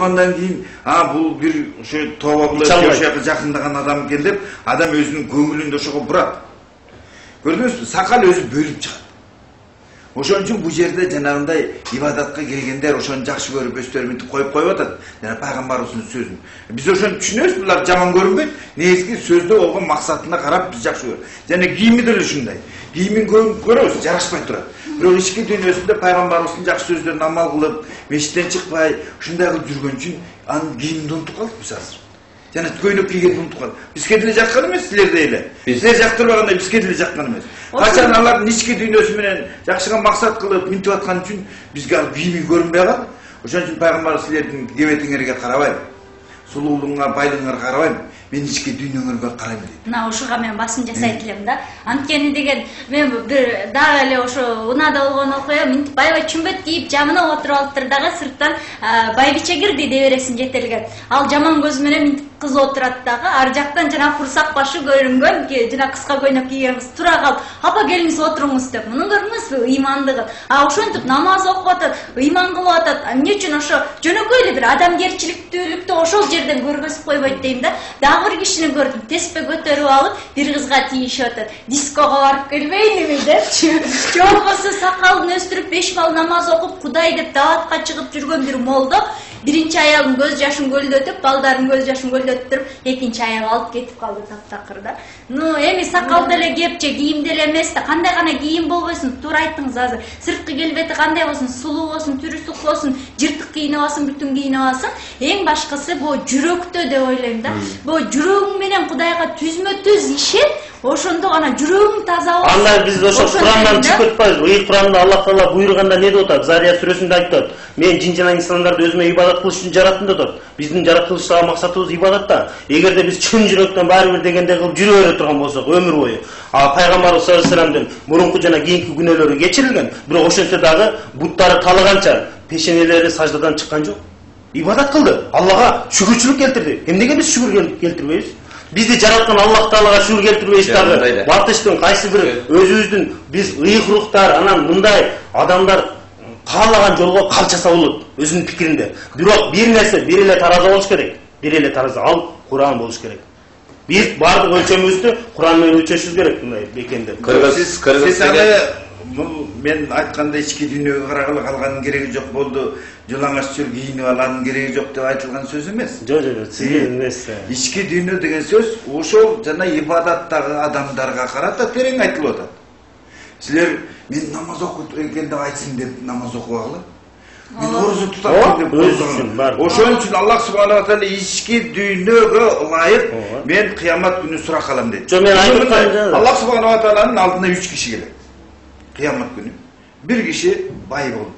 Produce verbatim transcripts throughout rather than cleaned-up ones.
тургандан кийин а бул бир ошо тообалуу ошого жакындаган адам экен деп адам өзүнүн көңүлүндө ошого бурат. Көрдүңүзбү? Сакал өзү бөлүп чыгат. Ошон үчүн бул жерде жанагындай ибадатка келгендер ошону жакшы көрүп өздөрү мынтип коюп коюп атат. Жана пайгамбарыбыздын сөзүн. Биз ошону түшүнөбүз, булар жаман көрүнбөйт. Негизги сөздө болгон максатына карап биз жакшы көрөбүз. Жана кийими деле ушундай. Кийимин көрөбүз, жарашпай турат. Бирок ички дүйнөсүндө пайгамбарыбыздын жакшы сөздөрүн амал кылып, мешиттен чыкпай, ушундай кылып жүргөн үчүн анын кийимин унутуп калдык биз азыр. Жана көйнөк кийгенди унутуп калдык. Бизге деле жаккан эмес, силерде эле. Силер жактырбагандай бизге деле жаккан эмес. Качан алардын ички дүйнөсү менен жакшыга максат кылып минтип аткан үчүн бизге ал кийими көрүнбөй калат. Ошон үчүн пайгамбар силердин кебетиңерге карабайм, сулуулугуңа, байлыгыңарга карабайм, мен ички дүйнөңөргө карайм дейт. Мына ушуга мен басым жасайт элем да. Анткени деген мен бир дагы эле ошо унаада болгон окуя, минтип байбай чүмбөт кийип жамына отуруп алыптыр дагы сырттан байбиче кирди деп бересиң жетелген. Ал жаман көз менен минтип кыз отурат дагы, ар жактан жана курсак башы көрүнгөн, жана кыска көйнөк кийген кыз тура калып, апа келиңиз отуруңуз деп. Муну көрдүңүзбү ыймандыгын? А ошентип намаз окуп атат, ыйман кылып атат. Эмне үчүн ошо жөнөкөй эле бир адамгерчиликтүүлүктү ошол жерден көргөзүп койбойт дейм да. Дагы бир кишини көрдүм, теспе көтөрүп алып, бир кызга тийишип атат. Диского барып келбейинби депчи. Же болбосо сакалын өстүрүп беш бал намаз окуп, Кудай деп даатка чыгып жүргөн бир молдо биринчи аялдын көз жашын көлдөтүп, балдардын көз жашын көлдөтүп, экинчи аял алып кетип калды таптакыр да. Ну, эми сакал деле кеп же кийим деле эмес да. Кандай гана кийим болбойсун, туура айттыңыз азыр. Сырткы келбети кандай болсун, сулуу болсун, түрү сук болсун, жыртык кийинип алсын, бүтүн кийинип алсын, эң башкысы бул жүрөктө деп ойлойм да. Бул жүрөгүң менен Кудайга түзмө-түз ишет, ошондо гана жүрөгүң таза болсун. Анда биз ошо Курандан чыгып кетпайбызбы? Ыйык Куранда Аллах Таала буйруганда не деп атат? Зария сүрөсүндө айтат: "Мен жин жана инсандарды өзүмө ибадат кылыш үчүн жараттым" деп атат. Биздин жаратылыштагы максатыбыз ибадат да. Эгерде биз чын жүрөктөн баары бир дегенде кылып жүрө бере турган болсок өмүр бою, а пайгамбарыбыз саллаллаху алейхи вассаламдын мурунку жана кийинки күнөөлөрү кечирилген, бирок ошентсе дагы буттары талыганча пешенелери саждадан чыккан жок. Ибадат кылды, Аллага шүгүрчүлүк келтирди. Эмнеге биз шүгүр келтирбейбиз? Бизди жараткан Аллах Таалага шүгүр келтирбейбиз дагы. Батыштын кайсы бир өзүбүздүн биз ыйык рухтар, анан мындай адамдар каалаган жолго калчаса болот өзүнүн пикиринде. Бирок бир нерсе, бир эле тараза болуш керек. Бир эле тараза, ал Куран болуш керек. Биз бардык өлчөмүбүздү Куран менен өлчөшүбүз керек мындай бекенде. Кыргыз кыргыз аны мен айткандай ички дүйнөгө карагыла калганын кереги жок болду. Жылаңач чүр кийинип алганын кереги жок деп айтылган сөз эмес. Жок, жок, сиз эмес. Ички дүйнө деген сөз ошол жана ибадаттагы адамдарга карата терең айтылып атат. Силер мен намаз окуп экен деп айтсын деп намаз окубагыла. Мен орозо тутам деп ойлогон. Ошон үчүн Аллах субханаху ва таала ички дүйнөгө ылайык мен кыямат күнү сурак алам дейт. Жок, мен айткан Аллах субханаху ва тааланын алдына үч киши келет. Кыямат күнү. Бир киши бай болуп,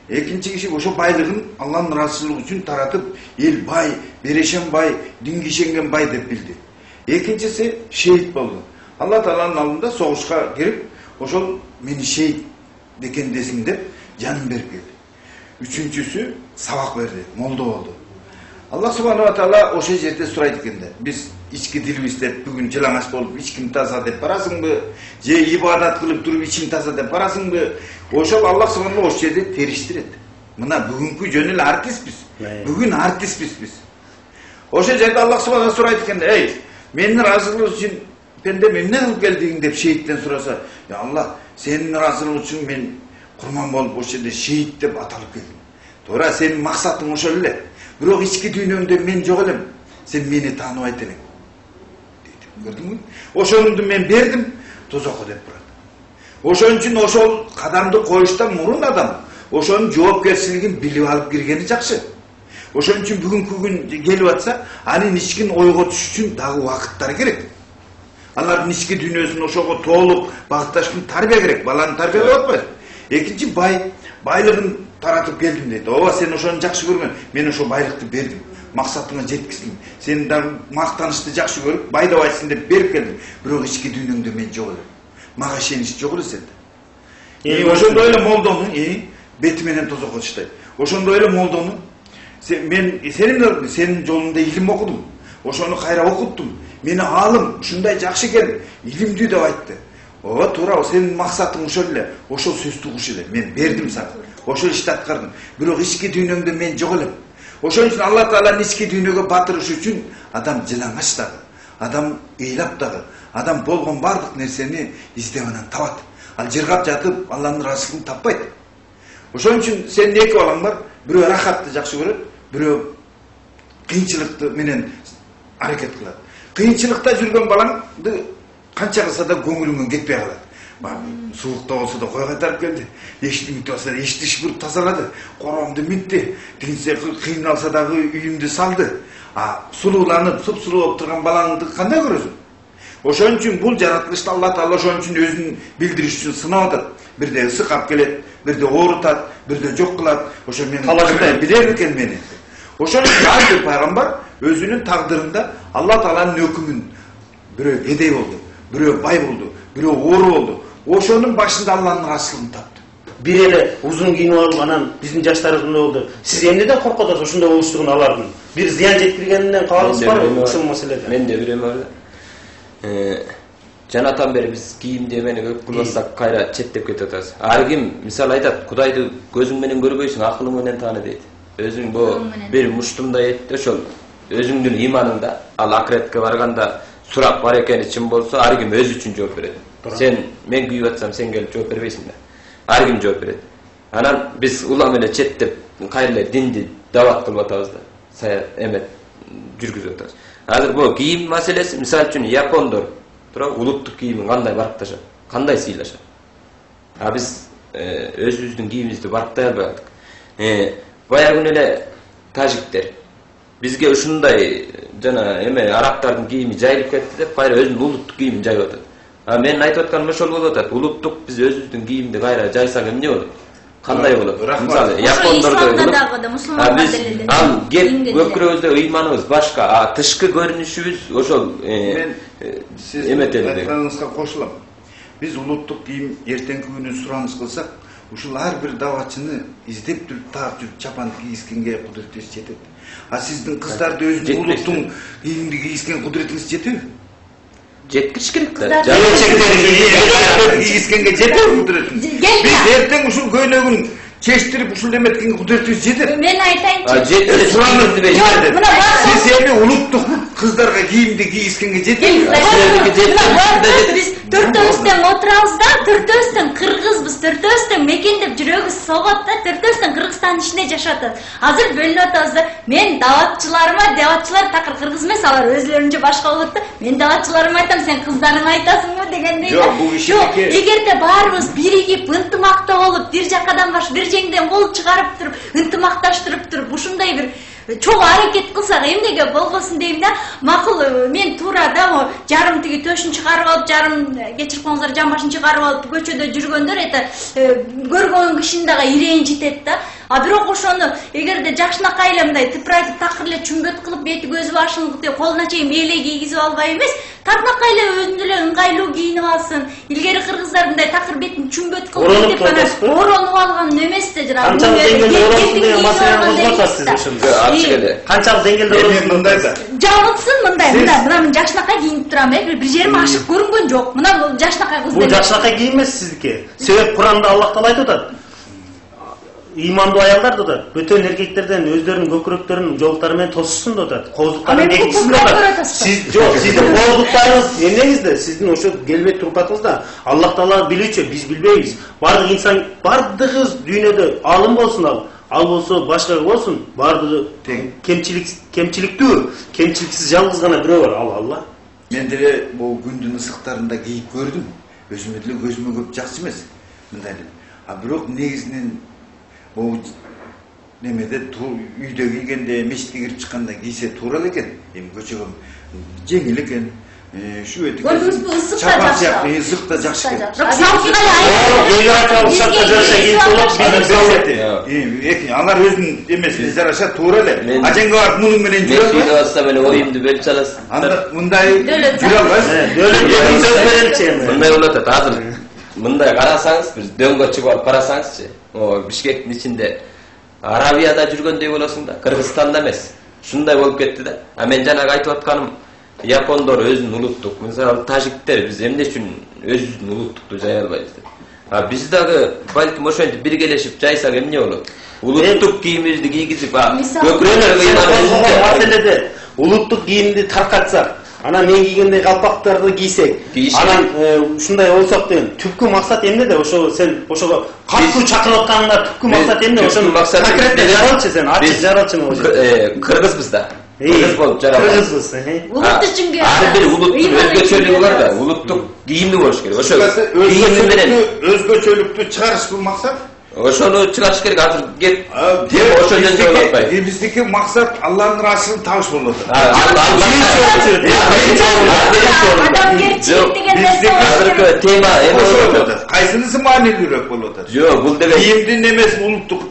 экинчи киши ошо байлыгын Алланын ыраазычылыгы үчүн таратып, эл бай, берешен бай, динге ишенген бай деп билди. Экинчиси шейит болду. Алла Тааланын алдында согушка кирип, ошол мени шейит бекендесиң деп жанын берип келди. Үчүнчүсү сабак берди, молдо болду. Аллах субханаху ва таала ошол жерде сурайт экен да. Биз ички дилибизде бүгүн жылаңач болуп ичким таза деп барасыңбы? Же ибадат кылып туруп ичим таза деп барасыңбы? Ошол Аллах субханаху ошол жерде териштирет. Мына бүгүнкү жөн эле артистпиз. Бүгүн артистпиз биз. Ошол жерде Аллах субханаху сурайт экен: "Эй, менин ыраазычылыгым үчүн пенде эмне кылып келдиң?" деп шейиттен сураса, "Я Аллах, сенин ыраазычылыгың үчүн мен курман болуп ошол жерде шейит деп аталып келдим. Туура сенин максатың ошол эле. Бирок ички дүйнөмдө мен жок элем. Сен мени тааныбайт элең." Көрдүңбү? Ошонду мен бердим, тозокко деп турат. Ошон үчүн ошол кадамды коюштан мурун адам ошонун жоопкерчилигин билип алып киргени жакшы. Ошон үчүн бүгүнкү күн келип атса, анын ичкин ойго түшүш үчүн дагы убакыттар керек. Алардын ички дүйнөсүн ошого толук багытташ үчүн тарбия керек. Баланы тарбиялап атпайбы? Экинчи бай байлыгын таратып келдим дейт. Ооба, сен ошону жакшы көргөн, мен ошол байлыкты бердим. Максатыңа жеткиздим. Сен дагы мактанышты жакшы көрүп, байдап айтсын деп берип келдим. Бирок ички дүйнөңдө мен жок элем. Мага ишенич жок эле сенде. И ошондой эле молдону, и бети менен тозокко таштайт. Ошондой эле молдону мен сенин сенин жолуңда илим окудум. Ошону кайра окуттум. Мени алым ушундай жакшы экен, илимдүү деп айтты. Ооба, туура, сенин максатың ошол эле. Ошол сөздү угуш эле. Мен бердим сага. Ошол ишти аткардым. Бирок ички дүйнөңдө мен жок элем. Ошон үчүн Алла Таала нички дүйнөгө батырыш үчүн адам жылаңач дагы, адам ыйлап дагы, адам болгон бардык нерсени издеп анан табат. Ал жыргап жатып Алланын ыраазычылыгын таппайт. Ошон үчүн сенин эки балаң бар, бирөө рахатты жакшы көрөт, бирөө кыйынчылыкты менен аракет кылат. Кыйынчылыкта жүргөн балаңды канча кылса да көңүлүңөн кетпей калат. Суулукта болсо да кой кайтарып келди, эчтимди болсо да эчтиш буруп тазалады, короомду митти, тигинсе кыйналса дагы үйүмдү салды. А сулууланып, суп-сулуу болуп турган балаңды кандай көрөсүң? Ошон үчүн бул жаратылышта Алла Таала ошон үчүн өзүн билдириш үчүн сынап атат. Бирде ысык алып келет, бирде оорутат, бирде жок кылат. Ошо мен талаштай билер экен мени. Ошон үчүн ар бир пайгамбар өзүнүн тагдырында Алла Тааланын өкүмүн бирөө кедей болду, бирөө бай болду, бирөө оору болду. Ошонун башында Алланын ыраазычылыгын тапты. Бир эле узун кийинип алып анан биздин жаштарыбыз мындай болду. Сиз эмнеден коркуп атасыз ошондой болуштугун алардын? Бир зыян жеткиргенинен кабарыңыз барбы ушул маселеде? Мен де билем бар. Э, жанатан бери биз кийимди эмени көп кылбасак кайра четтеп кетип атабыз. Ар ким мисалы айтат, Кудайды көзүң менен көрбөйсүң, акылың менен тааны дейт. Өзүң бу бир муштумдай эт, ошол өзүңдүн иманыңда, ал акыретке барганда сурап бар экени чын болсо, ар ким өзү үчүн жооп берет. Сен мен күйүп атсам, сен келип жооп бербейсиң да. Ар ким жооп берет. Анан биз улам эле четтеп кайра динди дават кылып атабыз да. Сая эмет жүргүзүп атабыз. Азыр бул кийим маселеси, мисалы үчүн япондор тура улуттук кийимин кандай баркташат, кандай сыйлашат. А биз өзүбүздүн кийимибизди барктай албай калдык. Э, баягы күнү эле тажиктер бизге ушундай жана эме арабтардын кийими жайылып кетти деп кайра өзүнүн улуттук кийимин жайып атат. А мен айтып атканым ошол болуп атат. Улуттук биз өзүбүздүн кийимди кайра жайсак эмне болот? Кандай болот? Мисалы япондордо ал кеп көкүрөбүздө ыйманыбыз башка, а тышкы көрүнүшүбүз ошол эметели. Айтганыңызга кошулам. Биз улуттук кийим эртеңки күнү сураныс кылсак, ушул ар бир даватчыны издеп жүрүп, таап жүрүп чапан кийискенге кудуретибиз жетет. А сиздин кыздарды өзүнүн улуттук кийимди кийискен кудуретиңиз жетеби? Жеткириш керек да. Кийискенге жетеби кудуретиңиз? Биз эртең ушул көйнөгүн чечтирип ушул эметкен кудуретибиз жетет. Мен айтайынчы. А жетет сурамызды берип. Сиз эми улуттук кыздарга кийимди кийискенге жетеби? Биз төртөөбүз тең отурабыз да, төртөөбүз тең кыргызбыз, төртөөбүз тең мекендеп жүрөгүбүз согот да, төртөөбүз тең Кыргызстандын ичинде жашап атат. Азыр бөлүнүп атабыз да. Мен даватчыларыма, даватчылар такыр кыргыз эмес, алар өзлөрүнчө башка болот да. Мен даватчыларыма айтам, сен кыздарыңа айтасыңбы дегендей да. Жок, эгерде баарыбыз биригип, ынтымакта болуп, бир жакадан баш, бир жеңден кол чыгарып туруп, ынтымакташтырып туруп, ушундай бир чоң аракет кылсак эмнеге болбосун дейм да. Макул, мен туура да жарым тиги төшүн чыгарып алып, жарым кечирип коңуздар жамбашын чыгарып алып көчөдө жүргөндөр это көргөн кишинин дагы ирээни жетет да. А бирок ошону эгерде жакшынакай эле мындай тыпырайтып такыр эле чүмбөт кылып бети көзү башын колуна чейин мээлей кийгизип албай эмес, такнакай эле өзүнө эле ыңгайлуу кийинип алсын. Илгери кыргыздар мындай такыр бетин чүмбөт кылып деп анан ороонуп алган эмес да жана. Канчалык деңгээлде ороосун деген маселени козготасыз ошондо. Ачык Канчалык деңгээлде ороосун мындай да. Жабылсын мындай, мына мына мен жакшынакай кийинип турам, э, бир жерим ашык көрүнгөн жок. Мына жакшынакай кыз. Бул жакшынакай кийим эмес сиздики. Себеп Куранда Аллах Таала айтып атат. Ыймандуу аялдар да бөтөн эркектерден өздөрүнүн көкүрөктөрүнүн жоолуктары менен тосушсун деп атат. Коозуктарын бекитсин деп атат. Сиз жок, сиздин коозуктарыңыз эмнеңизде? Сиздин ошо келбет турпатыңызда Аллах Таала билүүчү, биз билбейбиз. Бардык инсан, бардыгыбыз дүйнөдө алым болсун ал, ал болсо башка болсун, бардыгы тең. Кемчилик кемчиликтүү, кемчиликсиз жалгыз гана бирөө бар, ал Алла. Мен деле бул күндүн ысыктарында кийип көрдүм. Өзүмө деле көзүмө көп жакшы эмес. Мындай эле. А бирок негизинен бул немеде үйдө кийгенде, мечитке кирип чыкканда кийсе туура эле экен. Эми көчөгө жеңил экен. Şu etik. Gördünüz bu ısık da jakşı. Isık da jakşı. Bak salkına ayı. Yoyaka uşakta jarasa kийип болот. Эки, алар өзүнүн эмесине жараша туура эле. Аженге барып мунун менен жүрөбү? Мен үйдө алсам эле оюмду бөлүп саласың. Анда мындай жүрө албайсыз. Дөөлөт сөз берелчи. Мындай болот атат. Азыр мындай карасаңыз, бир дөңгө чыгып алып карасаңызчы, о Бишкектин ичинде Арабияда жүргөндөй болосуң да, Кыргызстанда эмес. Ушундай болуп кетти да. А мен жанагы айтып атканым, япондор өзүнүн улуттук, мисалы тажиктер биз эмне үчүн өзүбүздүн улуттукту жая албайбыз деп. А биз дагы балким ошентип биргелешип жайсак эмне болот? улуттук кийимибизди кийгизип, Мисалы- көкүрөлөргө Бұл маселеде улуттук кийимди таркатсак, анан мен кийгендей калпактарды кийсек, Кийишет. анан ушундай болсок деген түпкү максат эмнеде? Ошо сен ошого катуу чакырып атканыңда түпкү максат эмне? Ошону конкретно жаралчы сен, ачык жаралчы ошо. Кыргызбыз да. Кыргыз болуп жаралган. Кыргызбыз. Улут үчүн Ар бир улуттун өзгөчөлүгү бар да, улуттук кийимди болуш керек. Ошо кийими менен өзгөчөлүктү чыгарыш бул максат. ошону чыгарыш керек. Азыр кеп Дем ошол жерде болуп атпайбы. Биздики максат Алланын ыраазычылыгын табыш болот. Адамгерчилик деген нерсе Азыркы тема эме болуп атат. Кайсынысы маанилүүрөөк болуп атат? Жок, бул деген Кийимдин эмеси улуттук.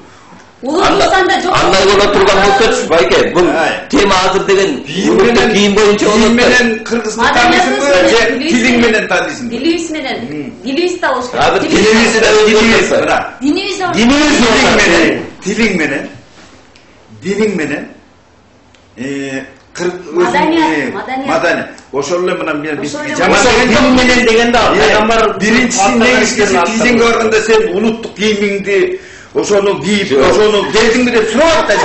улуттуксанда жок. андай боло турган болсочу, байке, бул тема азыр деген улуттук кийим боюнча кийим болот. менен кыргызды таанысыңбы же тилиң менен таанысыңбы? Дилибиз менен, дилибиз да болуш Азыр керек. тилибизди да өзгөртүп атпайбы. Мына, Динибиз да болуш Динибиз тилиң менен, тилиң менен, диниң менен э Маданият, маданият. маданият. Ошол эле мына мен биз Ошол эле жаман Ошо дин менен дегенде пайгамбар биринчиси негизгиси кийгенге барганда сен улуттук кийимиңди ошону кийип, ошону келдиңби деп сурап атат.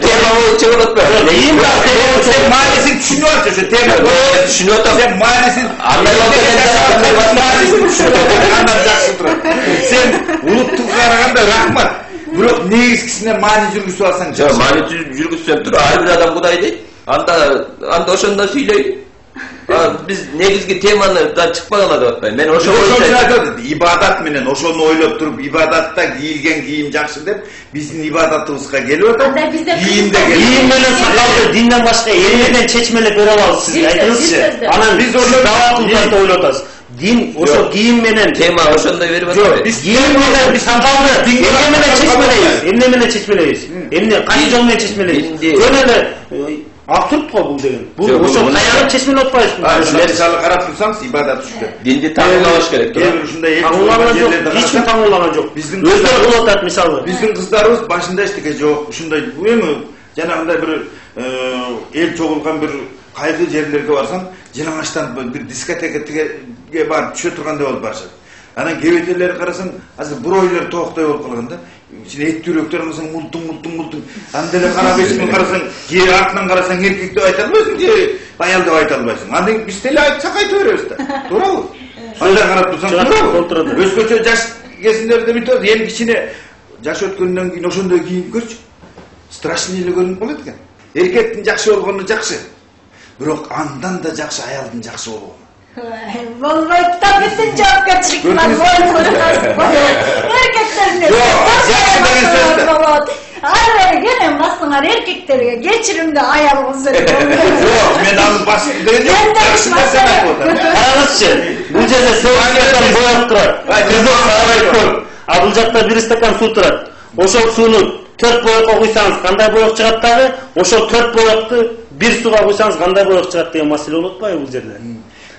Тема боюнча болуп атпайбы. Кийим бар, Сен маанисин түшүнүп атасың, ошо тема Түшүнүп атам. Сен маанисин Андай болсо маанисин түшүнүп атасың, андан жакшы турат. Сен улуттукка караганда рахмат. Бирок негизгисине маани жүргүзүп алсаң Жок, мани жүргүзсөм тур, ар бир адам Кудай дейт. Анда анда ошондо сүйлөйт. Биз негизги темадан чыкпагыла деп атпайм. Мен ошо ошо ибадат менен ошону ойлоп туруп, ибадатта кийилген кийим жакшы деп биздин ибадатыбызга келип атат. Анда бизде Кийимде кийим менен сакалды динден башка элден чечмелеп бере алабыз сизге, айтыңызчы. Анан биз ошо даватылды ойлоп атабыз. Дин ошо кийим менен тема ошондой берип атпайбы. кийим менен сакалды эмне менен чечмелейбиз? Эмне менен чечмелейбиз? Эмне кайсы жол менен чечмелейбиз? Жөн эле абсурд го бул деген. Бул ошо каярып чечмелеп атпайбызбы? Мисалы карап турсаңыз ибадат ушундай. Динди таңуулабаш керек. Кээ бир ушундай Таңуулаган жок, эч ким таңуулаган жок. Биздин Өздөрү кылып атат мисалы. Биздин кыздарыбыз башында эчтеке жок, ушундай эми жанагындай бир эл чогулган бир кайгы жерлерге барсаң, жалаңачтан бир дискотекаге барып түшө тургандай болуп барышат. Анан кебетелери карасаң, азыр буройлор тооктой болуп калган да. Ичине эт түрөктөр кылсаң, мултуң мултуң мултуң. Анда эле карап эсиңе карасаң, же артынан карасаң эркек деп айта албайсың, же аял деп айта албайсың. Андан биз деле айтсак айта беребиз да. Туурабы? Анда карап турсаң, туурабы? Өзгөчө жаш кезиндерде бүтөт, эми кичине жаш өткөндөн кийин ошондой кийип көрчү. Страшный эле көрүнүп калат экен. Эркектин жакшы болгону жакшы. Бирок андан да жакшы аялдын жакшы болгону. болбойт да бүтүн жоопкерчилик бар эркектерге. жакшы деген сөз да. болот. Ар келем басыңар эркектерге кечиримди аял болсо. Жок, мен аны басып деген жок. Жакшы нерсени айтып атам. Караңызчы, бул жерде стакан бояп турат. Кызыл сарай көп. А бул жакта бир стакан суу турат. Ошол сууну төрт боекко куйсаңыз кандай боек чыгат дагы? Ошол төрт боекты бир сууга куйсаңыз кандай боек чыгат деген маселе болуп атпайбы бул жерде?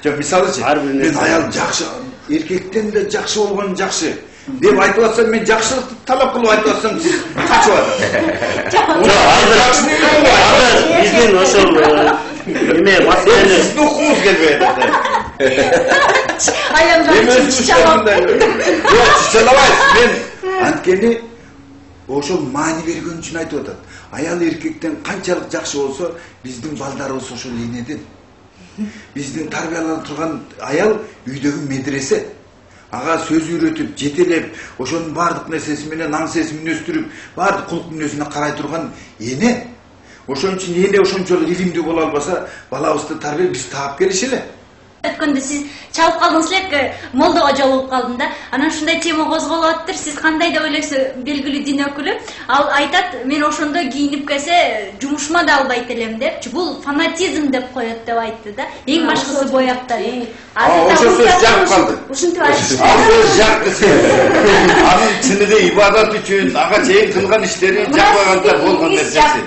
Жок, мисалычы, мен аял жакшы, эркектен да жакшы болгон жакшы деп айтып атсам, мен жакшылыкты талап кылып айтып атсам, сиз качып атасыз. Жок, азыр биздин ошол эме маселени Сиздин укуңуз келбей атат. Аялдар үчүн чычалап. Жок, чычалабайсыз. Мен анткени ошол маани берген үчүн айтып атат. Аял эркектен канчалык жакшы болсо, биздин балдарыбыз ошол энеден. Биздин тарбияланып турган аял үйдөгү медресе. Ага сөз үйрөтүп, жетелеп, ошонун бардык нерсеси менен аңсесин өстүрүп, бардык кулк мүнөзүнө карай турган эне. Ошон үчүн эне ошончолук илимдүү боло албаса, балабызды тарбия биз таап келиш эле. Өткөндө сиз чалып калдыңыз элек, молдого жолугуп калдым да. Анан ушундай тема козголуп атыптыр. Сиз кандай деп ойлойсуз, белгилүү дин өкүлү? Ал айтат, мен ошондо кийинип келсе, жумушума да албайт элем депчи. Бул фанатизм деп коет деп айтты да. Эң башкысы бояптар. Ошол сөз жагып калды. Ушинтип айтышты. Ал сөз жакты сөз. Анын чыныгы ибадат үчүн, ага чейин кылган иштери жакпаганда болгон нерсеси.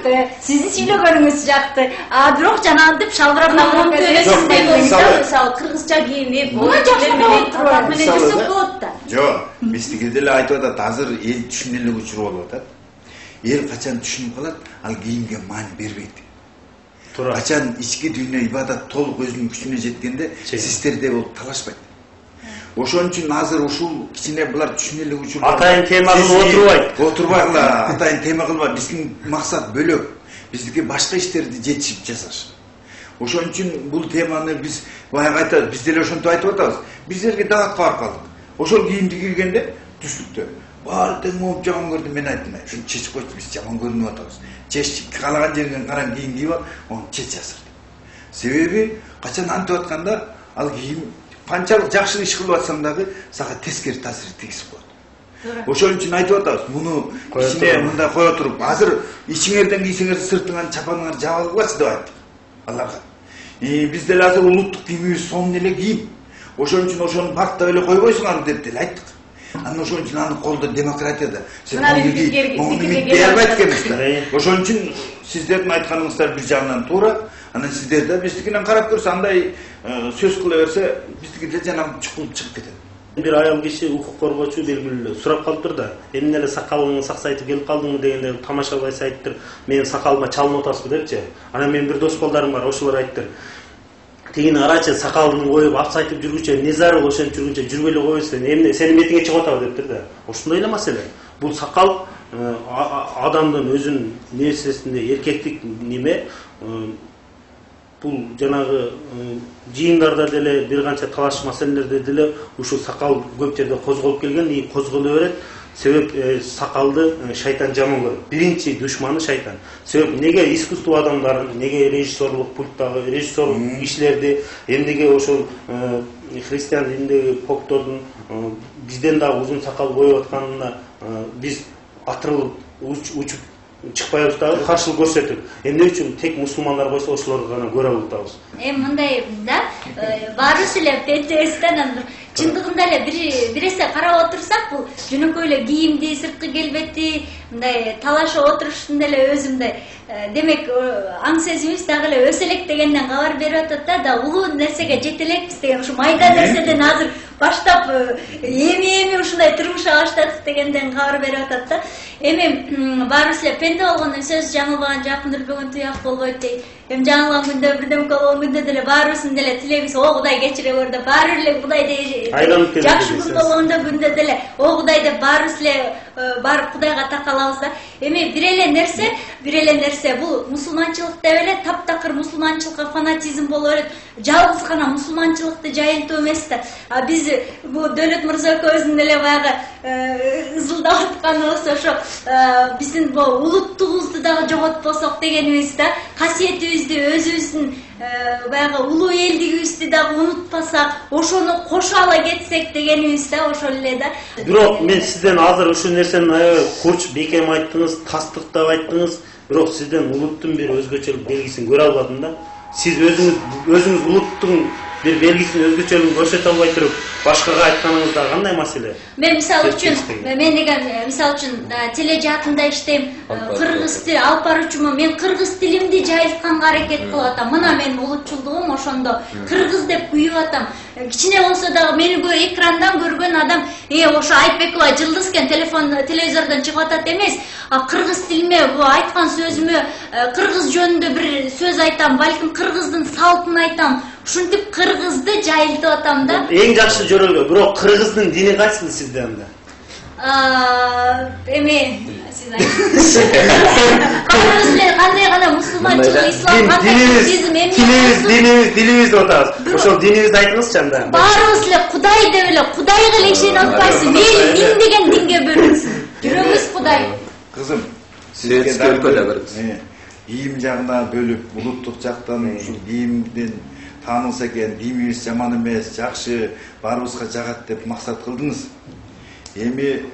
Сиздин сүйлөгөнүңүз жакты. А бирок жанагынтип шалбырап калган. Кыргызча кийинип, моюнчаклар менен турат менен жүрсөк болот да. Жок, биздики деле айтып атат, азыр эл түшүнөлүк учур болуп атат. Эл качан түшүнүп калат, ал кийимге маани бербейт. туура. Качан ички дүйнө ибадат толук өзүнүн күчүнө жеткенде, систерде болуп талашпайт. Ошон үчүн азыр ушул кичине булар түшүнө элек учур. Атайын тема кылып отурбайт. Отурбайгыла, атайын тема кылбайт. Биздин максат бөлөк. Биздики башка иштерди жетишип жасаш. Ошон үчүн бул теманы биз баягы айтабыз, биз деле ошентип айтып атабыз. Биздерге дагатка барып калдык. Ошол кийимди кийгенде түштүктө баары тең моп жаман көрдүм, мен айттым, шуну чечип койчу, биз жаман көрүнүп атабыз. Чеч, каалаган жериңен караң кийим кийип ал, ону чеч жасыр. Себеби качан антип атканда ал кийим канчалык жакшы иш кылып атсаң дагы сага тескери таасир тийгизип коет. Ошон үчүн айтып атабыз, муну ичине мындай кое туруп, азыр ичиңерден кийсеңер сыртыңан чапаныңар жабылбасын деп айттык аларга. Биз деле азыр улуттук кийимибиз сонун эле кийим. Ошон үчүн ошону бактап эле койбойсуңар деп деле айттык. Анан ошон үчүн аны колдо демократияда сен муну дей албайт экенбиз да. Ошон үчүн сиздердин айтканыңыздар бир жагынан туура, анан сиздер да биздикинен карап көрсө, андай сөз кыла берсе, биздики деле жанагы чукулуп чыгып кетет. Бир ayol киши укук коргоочу белгилүү сурап калыптыр да, эмне эле сакалыңды саксайтып келип калдыңбы дегенде тамашалбай айттыр, менин сакалыма чалынып атасызбы депчи. Анан менин бир дос балдарым бар, ошолор айттыр. Тигини карачы, сакалын коюп апсайтып жүргүчө не зарыл, ошентип жүргүнчө жүрбөй эле койбойсуң, эмне сенин метиңе чыгып атабы дептир да. Ошондой эле маселе. Бул сакал адамдын өзүнүн нерсесинде эркектик неме, бул жанагы жыйындарда деле бир канча талаш маселелерде деле ушул сакал көп жерде козголуп келген, и козголо берет. Себеп сакалды шайтан жаман көрөт. Биринчи душманы шайтан. Себеп неге искусство адамдарын, неге режиссерлук пульттагы режиссерлук иштерди, эмнеге ошол христиан дининдеги поптордун бизден да узун сакал коюп атканына биз атырылып учуп чыкпайбыз дагы, каршылык көрсөтүп. Эмне үчүн тек мусулмандар койсо ошолорду гана көрө алабыз. Эми мындай да, баарыбыз эле пентебизден чындыгында эле бир биресе карап отурсак, бул жөнөкөй эле кийимди, сырткы келбети, мындай талашып отуруштун деле өзү мындай, демек аң сезимибиз дагы эле өсө элек дегенден кабар берип атат да, да улуу нерсеге жете элекпиз деген ушу майда нерседен азыр баштап эми-эми ушундай турмушка баштадык дегенден кабар берип атат да. Эми баарыбыз эле пенде болгондон сөз жаңылбаган жакын өлбөгөн туяк болбойт дейт. Эми жаңылган күндө бирдемке болгон күндө деле баарыбыздын деле тилегибиз о Кудай кечире көр деп, баары эле Кудайды жакшы күн болгондо күндө деле о Кудай деп баарыбыз эле барып Кудайга такалабыз да. Эми бир эле нерсе, бир эле нерсе бул мусулманчылык деп эле таптакыр мусулманчылыкка фанатизм боло берет. Жалгыз гана мусулманчылыкты жайылтуу эмес да. А биз бул Дөөлөт мырза экөөбүздүн деле баягы ызылдап атканыбыз ошо биздин бул улуттугубузду дагы жоготпосок дегенибиз да. Касиетибизди, өзүбүздүн баягы улуу элдигибизди дагы унутпасак, ошону кошо ала кетсек дегенибиз да, ошол эле да. Бирок мен сизден азыр ушул нерсени аябай курч бекем айттыңыз, тастыктап айттыңыз, бирок сизден улуттун бир өзгөчөлүк белгисин көрө албадым да. Сиз өзүңүз өзүңүз улуттун бир белгисин өзгөчөлүгүн көрсөтө албай туруп, башкага айтканыңызда кандай маселе? Мен мисалы үчүн, мен деген мисалы үчүн тележаатында иштейм, кыргыз тили алып баруучумун, мен кыргыз тилимди жайылтканга аракет кылып атам. Мына менин улутчулдугум ошондо. Кыргыз деп күйүп атам. Кичине болсо дагы мени экрандан көргөн адам, э ошо Айтбекова жылдыз экен, телефон телевизордон чыгып атат эмес. А кыргыз тилиме бу айткан сөзүмө кыргыз жөнүндө бир сөз айтам, балким кыргыздын салтын айтам. Ушинтип кыргызды жайылтып атам да. Эң жакшы жөрөлгө, бирок кыргыздын дини кайсы сизде анда? А, эми сиз айтыңыз. Кандай гана мусулманчылык, ислам, кандай буддизм, эмне? Динибиз, динибиз, динибизди атабыз. Ошол динибизди айтыңызчы анда. Баарыбыз эле Кудай деп эле, Кудайга эле ишене атпайсың. Мейли дин деген динге бөлүнсүн. Жүрөгүбүз Кудай. Кызым, сизге өлкөдө беребиз. Кийим жагына бөлүп, улуттук жактан ушул кийимден таанылса экен, кийимибиз жаман эмес, жакшы, баарыбызга жагат деп максат кылдыңыз. Эми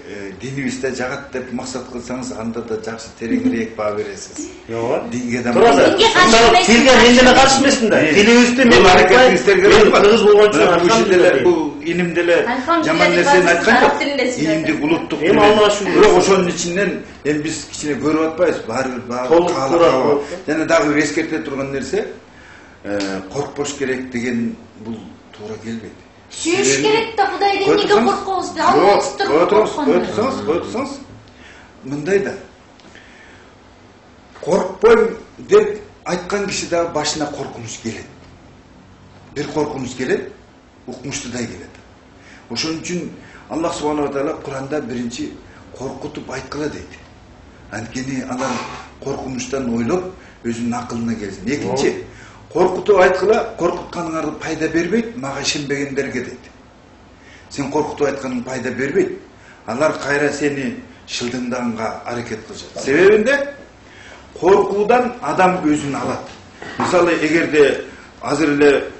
динибизде жагат деп максат кылсаңыз, анда да жакшы тереңирээк баа бересиз. Жок. Динге да Динге каршы эмес. Динге мен деле каршы эмесмин да. Динибизди мен аракетиңиздерге кыргыз болгон үчүн бул иним деле жаман нерсени айткан жок. Инимдик улуттук. Эми Аллага шүгүр. Бирок ошонун ичинен эми биз кичине көрүп атпайбыз, баары бир баары. Жана дагы бир эскерте турган нерсе, коркпош керек деген бул туура келбейт. Сүйүш керек да, Кудайдын эмнеге коркобуз? Аллах турган корккон. Өтсөңүз, өтсөңүз. Мындай да. Коркпойм деп айткан киши да башына коркунуч келет. Бир коркунуч келет, укмуштудай келет. Ошон үчүн Аллах субханала тааля Куранда биринчи коркутуп айткыла дейт. Анткени адам коркунучтан ойлоп өзүнүн акылына келсин. Экинчи, коркутуп айткыла, коркутканыңар пайда бербейт, мага ишенбегендерге дейт. Сен коркутуп айтканың пайда бербейт. Алар кайра сени шылдыңдаганга аракет кылышат. Себебинде коркуудан адам өзүн алат. Мисалы, эгерде азыр эле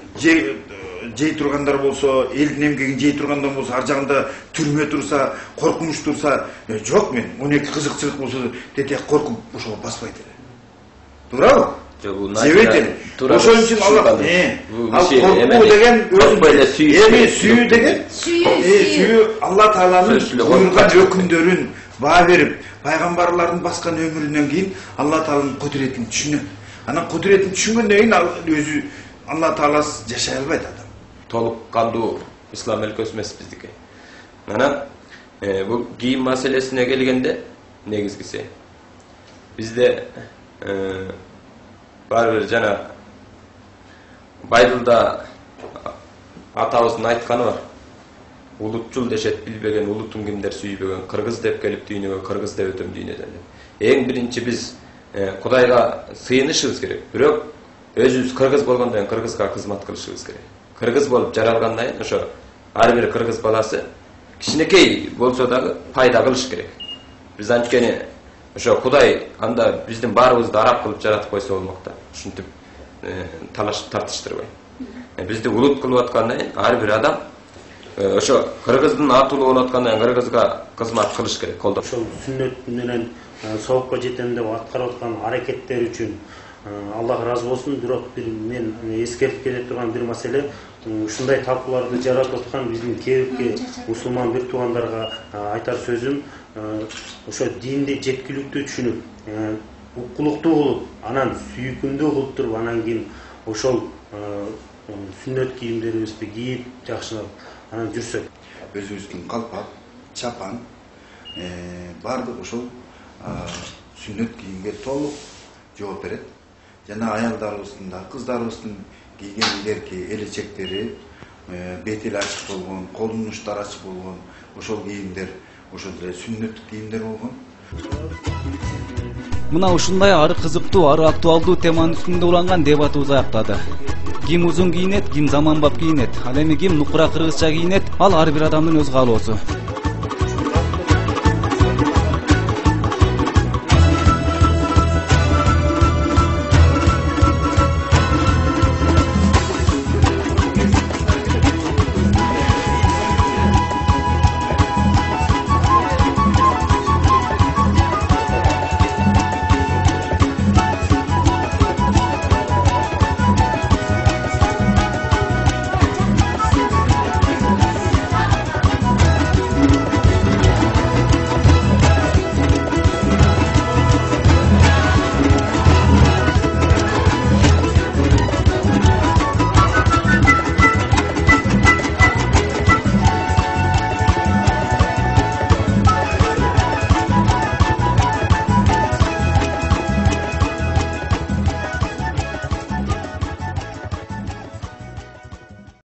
жей тургандар болсо, элдин эмгегин жей тургандар болсо, ар жагында түрмө турса, коркунуч турса, жок мен он эки кызыкчылык болсо тетек коркуп ошого баспайт эле. Туурабы? Жебейт эле. Ошон үчүн Аллах ал коркуу деген өзү эми сүйүү деген сүйүү Алла Тааланын буйруган өкүмдөрүн баа берип, пайгамбарлардын баскан өмүрүнөн кийин Алла Тааланын кудуретин түшүнөт. Анан кудуретин түшүнгөндөн кийин ал өзү Алла Таала жашай албайт адам. Толук кандуу ислам өлкөсү эмес биздики. Анан бул кийим маселесине келгенде негизгиси бизде баары бир жана Байбылда атабыздын айтканы бар. Улутчул дешет билбеген, улутун кимдер сүйбөгөн, кыргыз деп келип дүйнөгө, кыргыз деп өтөм дүйнөдөн. Эң биринчи биз Кудайга сыйынышыбыз керек. Бирок өзүбүз кыргыз болгондон кийин кыргызга кызмат кылышыбыз керек. Кыргыз болуп жаралгандан кийин ошо ар бир кыргыз баласы кичинекей болсо дагы пайда кылыш керек. Биз анткени ошо Кудай анда биздин баарыбызды араб кылып жаратып койсо болмок да. Ушинтип талаш тартыштырбай. Бизди улут кылып аткандан кийин ар бир адам ошо кыргыздын атуулу болуп аткандан кийин кыргызга кызмат кылыш керек, колдоп. Ошол сүннөт менен соопко жетем деп аткарып аткан аракеттер үчүн Аллах ыраазы болсун. Бирок бир мен эскертип келе турган бир маселе, ушундай талкууларды жаратып аткан биздин кээбикке мусулман бир туугандарга айтар сөзүм, ошо динди жеткиликтүү түшүнүп, укулуктуу кылып, анан сүйкүмдүү кылып туруп, анан кийин ошол сүннөт кийимдерибизди кийип, жакшылап анан жүрсөк. Өзүбүздүн калпак, чапан, баардык ошол сүннөт кийимге толук жооп берет. Жана аялдарыбыздын да, кыздарыбыздын кийген илерки элечектери, бети ачык болгон, колдун учтары ачык болгон, ошол кийимдер ошол эле сүннөт кийимдер болгон. Мына ушундай ары кызыктуу, ары актуалдуу теманын үстүндө уланган дебатыбыз аяктады. Ким узун кийинет, ким заманбап кийинет, ал эми ким нукура кыргызча кийинет, ал ар бир адамдын өз каалоосу.